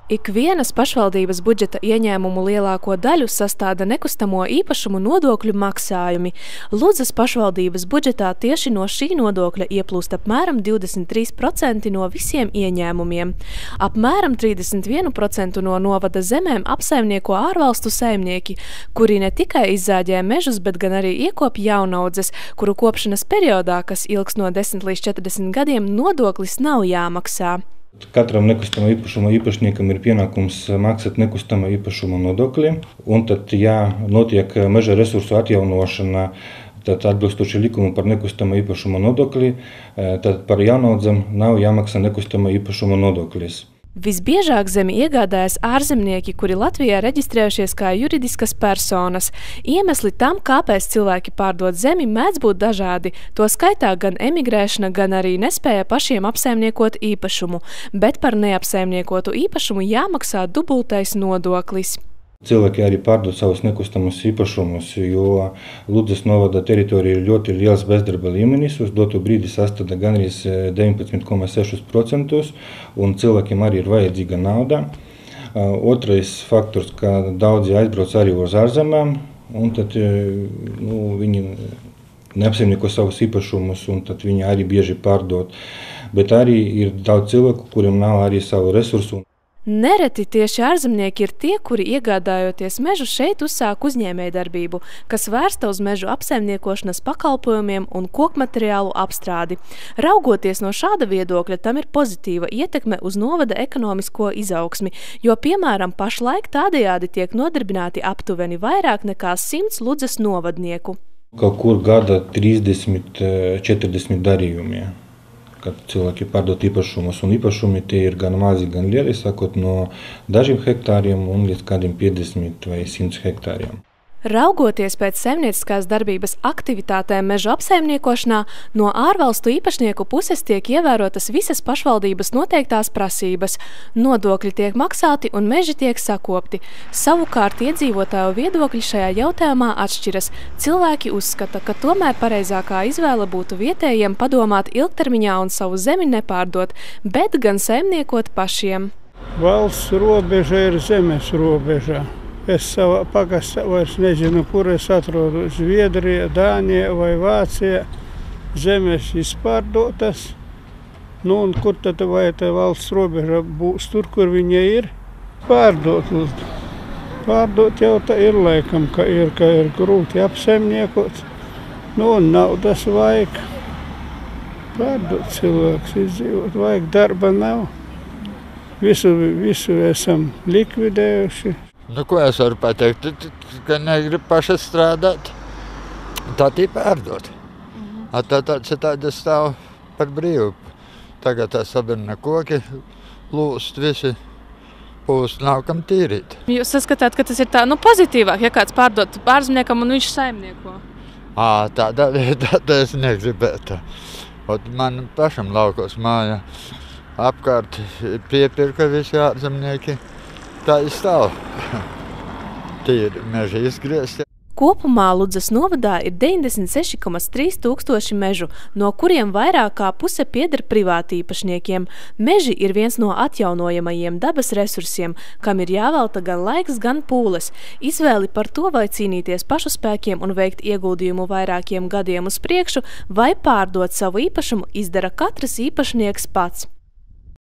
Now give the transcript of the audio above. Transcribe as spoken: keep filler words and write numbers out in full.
Ikvienas pašvaldības budžeta ieņēmumu lielāko daļu sastāda nekustamo īpašumu nodokļu maksājumi. Ludzas pašvaldības budžetā tieši no šī nodokļa ieplūst apmēram divdesmit trīs procenti no visiem ieņēmumiem. Apmēram trīsdesmit viens procents no novada zemēm apsaimnieko ārvalstu saimnieki, kuri ne tikai izzāģē mežus, bet gan arī iekop jaunaudzes, kuru kopšanas periodā, kas ilgs no desmit līdz četrdesmit gadiem, nodoklis nav jāmaksā. Katram nekustamā īpašuma īpašniekam ir pienākums maksāt nekustamā īpašuma nodokli, un tad, ja notiek meža resursu atjaunošana, tad atbilstoši likumu par nekustamā īpašuma nodokli, tad par jaunaudzam nav jāmaksā nekustamā īpašuma nodoklis. Visbiežāk zemi iegādājas ārzemnieki, kuri Latvijā reģistrējušies kā juridiskas personas. Iemesli tam, kāpēc cilvēki pārdod zemi, mēdz būt dažādi. To skaitā gan emigrēšana, gan arī nespēja pašiem apsaimniekot īpašumu, bet par neapsaimniekotu īpašumu jāmaksā dubultais nodoklis. Cilvēki arī pārdod savus nekustamus īpašumus, jo Ludzas novada teritorija ir ļoti liels bezdarba līmenis. Uz doto brīdi sastāda gandrīz deviņpadsmit komats seši procenti, un cilvēkiem arī ir vajadzīga nauda. Otrais faktors, ka daudzi aizbrauc arī uz ārzemēm, un tad nu, viņi neapsaimnieko savus īpašumus, un tad viņi arī bieži pārdod. Bet arī ir daudz cilvēku, kuriem nav arī savu resursu. Nereti tieši ārzemnieki ir tie, kuri iegādājoties mežu šeit uzsāk uzņēmējdarbību, kas vērsta uz mežu apsaimniekošanas pakalpojumiem un kokmateriālu apstrādi. Raugoties no šāda viedokļa, tam ir pozitīva ietekme uz novada ekonomisko izaugsmi, jo, piemēram, pašlaik tādējādi tiek nodarbināti aptuveni vairāk nekā simts Ludzas novadnieku. Kaut kur gada trīsdesmit četrdesmit darījumi. Kad cilvēki pārdod īpašumus, un īpašumi tie ir gan mazi, gan lieli, sākot no dažiem hektāriem un līdz kādiem piecdesmit vai simt hektāriem. Raugoties pēc saimnieciskās darbības aktivitātēm mežu apsaimniekošanā, no ārvalstu īpašnieku puses tiek ievērotas visas pašvaldības noteiktās prasības. Nodokļi tiek maksāti un meži tiek sakopti. Savukārt iedzīvotāju viedokļi šajā jautājumā atšķiras. Cilvēki uzskata, ka tomēr pareizākā izvēle būtu vietējiem padomāt ilgtermiņā un savu zemi nepārdot, bet gan saimniekot pašiem. Valsts robeža ir zemes robežā. Es savā pagastā vairs nezinu, kur es atrodu. Zviedrija, Dānija vai Vācija. Zemes izpārdotas. Nu, un kur tad vai tā valsts robeža būs tur, kur viņa ir? Pārdot. Pārdot jau tā ir laikam, ka ir, ka ir grūti apsaimniekot. Nu, un naudas vajag. Pārdot cilvēks izdzīvot. Vajag darba nav. Visu, visu esam likvidējuši. Nu, ko es varu pateikt, ka negrib paši strādāt, tad ir pārdot. Mm-hmm. Tad tāds ir tāda stāv par brīvu. Tagad tā sabirna koki, lūst visi, pūst nav kam tīrīt. Jūs saskatāt, ka tas ir tā, nu, pozitīvāk, ja kāds pārdot ārzemniekam un viņš saimnieko? Ā, tāda, tāda es negribētu. Ot man pašam laukos māja apkārt piepirka visi ārzemnieki. Tā ir stāv. Tīri meži izgriezti. Kopumā Ludzas novadā ir deviņdesmit seši komats trīs tūkstoši mežu, no kuriem vairāk kā puse pieder privātīpašniekiem. Meži ir viens no atjaunojamajiem dabas resursiem, kam ir jāvelta gan laiks, gan pūles. Izvēli par to, vai cīnīties pašu spēkiem un veikt ieguldījumu vairākiem gadiem uz priekšu, vai pārdot savu īpašumu, izdara katrs īpašnieks pats.